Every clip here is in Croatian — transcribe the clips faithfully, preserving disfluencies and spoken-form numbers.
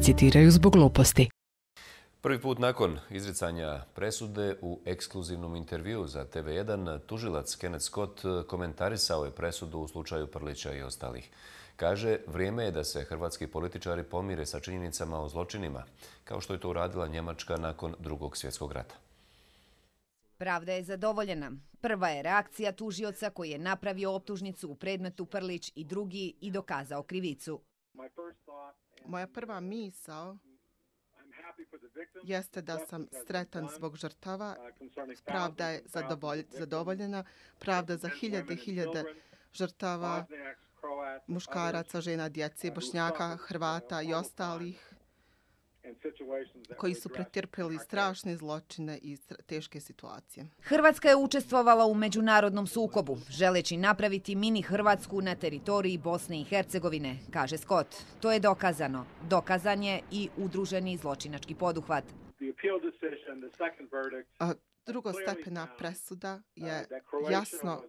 citiraju zbog gluposti. Prvi put nakon izricanja presude u ekskluzivnom intervjuu za T V jedan, tužilac Kenneth Scott komentarisao je presudu u slučaju Prlića i ostalih. Kaže, vrijeme je da se hrvatski političari pomire sa činjenicama o zločinima, kao što je to uradila Njemačka nakon Drugog svjetskog rata. Pravda je zadovoljena. Prva je reakcija tužioca koji je napravio optužnicu u predmetu Prlić i drugi i dokazao krivicu. Moja prva misao jeste da sam sretan zbog žrtava. Pravda je zadovoljena. Pravda za hiljade i hiljade žrtava, muškaraca, žena, djece, Bošnjaka, Hrvata i ostalih koji su pretrpjeli strašne zločine i teške situacije. Hrvatska je učestvovala u međunarodnom sukobu, želeći napraviti mini Hrvatsku na teritoriji Bosne i Hercegovine, kaže Scott. To je dokazano. Dokazan je i udruženi zločinački poduhvat. A drugostepena presuda je jasno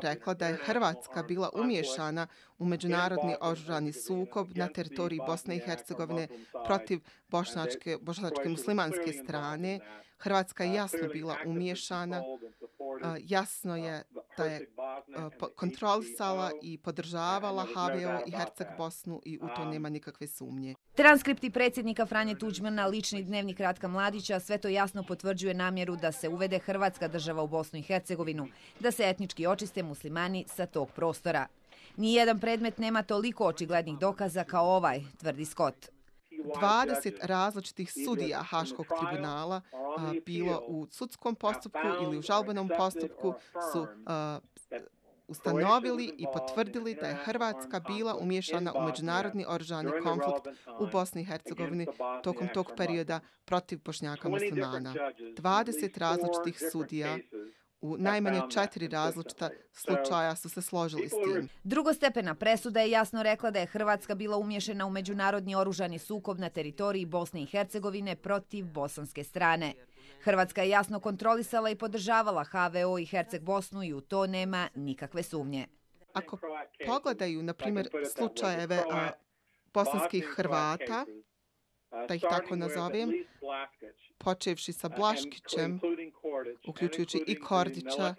rekla da je Hrvatska bila umiješana u međunarodni oružani sukob na teritoriji Bosne i Hercegovine protiv bošnjačke, bošnjačke muslimanske strane. Hrvatska je jasno bila umiješana. Jasno je da je kontrolisala i podržavala H V O i Herceg Bosnu i u to nema nikakve sumnje. Transkripti predsjednika Franje Tuđmana, lični dnevnik Ratka Mladića, sve to jasno potvrđuje namjeru da se uvede Hrvatska država u Bosnu i Hercegovinu, da se etnički očiste muslimani sa tog prostora. Nijedan predmet nema toliko očiglednih dokaza kao ovaj, tvrdi Scott. dvadeset različitih sudija Haškog tribunala, a, bilo u sudskom postupku ili u žalbenom postupku, su a, ustanovili i potvrdili da je Hrvatska bila umiješana u međunarodni oružani konflikt u Bosni i Hercegovini tokom tog perioda protiv Bošnjaka muslimana. dvadeset različitih sudija u najmanje četiri različita slučaja su se složili s tim. Drugostepena presuda je jasno rekla da je Hrvatska bila umiješana u međunarodni oružani sukob na teritoriji Bosne i Hercegovine protiv bosanske strane. Hrvatska je jasno kontrolisala i podržavala H V O i Herceg Bosnu i u to nema nikakve sumnje. Ako pogledaju, na primjer, slučajeve a, bosanskih Hrvata, da ih tako nazovem, počevši sa Blaškićem, uključujući i Kordića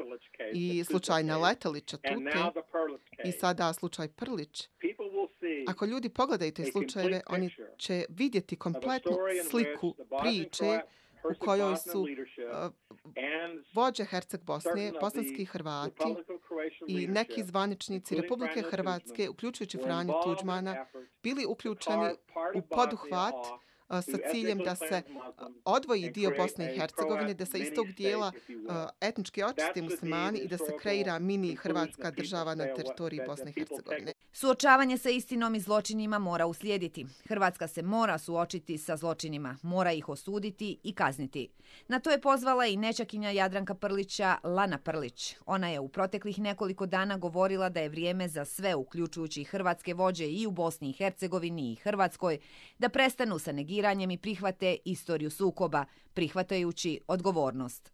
i slučaj Naletelića Tute i sada slučaj Prlić. Ako ljudi pogledaju te slučajeve, oni će vidjeti kompletnu sliku priče u kojoj su uh, vođe Herceg Bosne, bosanski Hrvati i neki zvaničnici Republike Hrvatske, uključujući Franju Tuđmana, bili uključeni u poduhvat sa ciljem da se odvoji dio Bosne i Hercegovine, da se iz tog dijela etnički očiste muslimani i da se kreira mini Hrvatska država na teritoriji Bosne i Hercegovine. Suočavanje sa istinom i zločinima mora uslijediti. Hrvatska se mora suočiti sa zločinima, mora ih osuditi i kazniti. Na to je pozvala i nećakinja Jadranka Prlića, Lana Prlić. Ona je u proteklih nekoliko dana govorila da je vrijeme za sve, uključujući hrvatske vođe i u Bosni i Hercegovini i Hrvatskoj, da prestanu sa negiranjem i prihvate istoriju sukoba, prihvatajući odgovornost.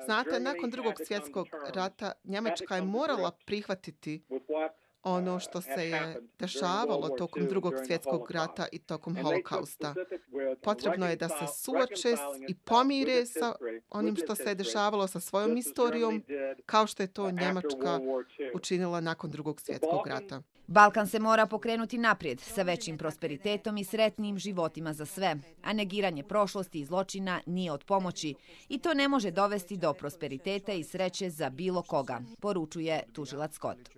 Znate, nakon Drugog svjetskog rata Njemačka je morala prihvatiti ono što se je dešavalo tokom Drugog svjetskog rata i tokom Holokausta. Potrebno je da se suoče i pomire sa onim što se je dešavalo sa svojom istorijom, kao što je to Njemačka učinila nakon Drugog svjetskog rata. Balkan se mora pokrenuti naprijed sa većim prosperitetom i sretnim životima za sve, a negiranje prošlosti i zločina nije od pomoći i to ne može dovesti do prosperiteta i sreće za bilo koga, poručuje tužilac Scott.